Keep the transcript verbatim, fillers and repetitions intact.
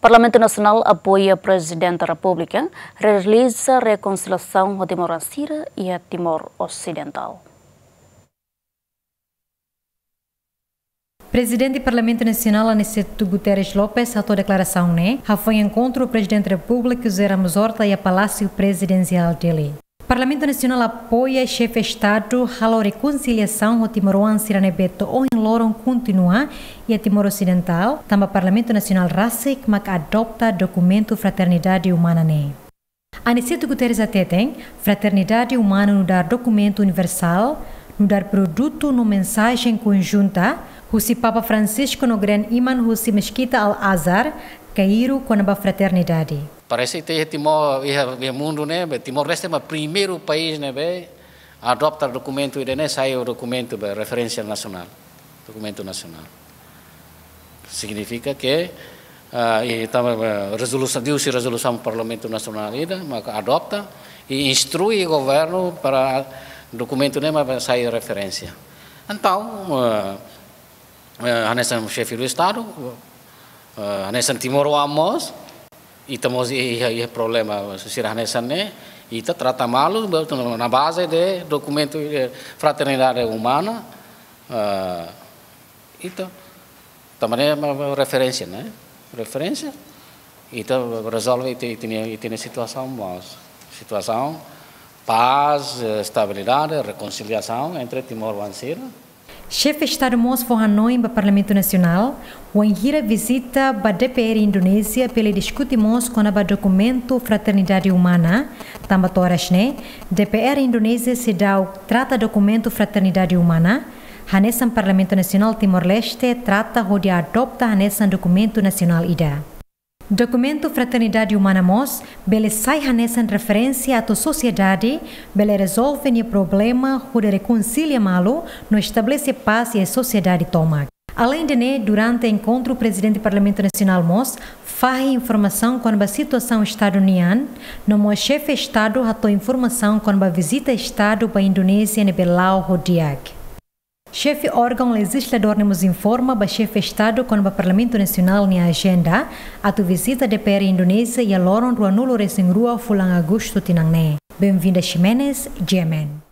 Parlamentu Nasionál apoia Prezidente Repúblika realiza rekonsiliasaun ho timoroan sira iha Timor Osidentál. Prezidente Parlamentu Nasionál Aniceto Guterres Lopes hato'o deklarasaun ne'e hafoin enkontru Prezidente Repúblika José Ramos Horta iha Palásiu Prezidensiál Dili. Parlamentu Nasionál apoia Xefe Estadu halo rekonsiliasaun ho timoroan sira ne'ebé to'o ohin loron kontinua iha Timor Osidentál, tanba Parlamentu Nasionál rasik mak adopta dokumentu fraternidade umana ne'e. Aniceto Guterres hateten, fraternidade umana nu'udar dokumentu universál, nu'udar produtu no mensajen konjunta husi Papa Francisco no Gran Imam husi Meskita Al-Azhar, Kairu, kona-ba fraternidade. Parese ita iha Timor, iha, iha mundu ne'e, be Timor-Leste mak primeiru país ne'ebé adopta dokumentu ida-ne'e sai dokumentu be referénsia nasionál, dokumentu nasionál. Signifika ke, ah, i tanba, ah, rezolusaun, liuhusi rezolusaun Parlamentu Nasionál ida, maka adopta i instrui governu para dokumentu ne'e mak sai referénsia. Entaun, ah, ah, hanesan Xefe do Estadu, ah, hanesan timoroan mós, ita mós iha, iha problema sira hanesan ne'e, ita trata malu, be, na baze de dokumentu, eh, fraternidade umana, ah, ita, tanba ne'e mak referénsia, ne'e? Referénsia, ita rezolve ita, ita-nia, ita-nia situasaun mós. Situasaun, pás, eh, estabilidade, rekonsiliasaun entre timoroan sira. Xefe Estadu mós fó hanoin ba Parlamentu Nasionál, wainhira vizita ba D P R Indonézia, bele diskute mós kona-ba dokumentu fraternidade umana, tanba to'o oras ne'e, D P R Indonézia seidauk trata dokumentu fraternidade umana, hanesan Parlamentu Nasionál Timor-Leste trata hodi adopta hanesan dokumentu nasionál ida. Dokumentu fraternidade umana mós bele sai hanesan referénsia atu sosiedade bele rezolve nia problema hodi rekonsilia malu no estabelese pás iha sosiedade tomak. Aleinde ne'e, durante enkontru Prezidente Parlamentu Nasionál mós fahe informasaun kona-ba situasaun Estadu nian, no mós Xefe Estadu hato'o informasaun kona-ba vizita Estadu ba Indonézia ne'ebé la'o ho di'ak. Xefe órgaun lejizladór ne'e mós informa ba Xefe Estadu kona-ba Parlamentu Nasionál nia ajenda atu vizita D P R Indonézia iha loron ruanulu-resin-rua fulan Agostu tinan ne'e. Benvinda Ximenes, G M N.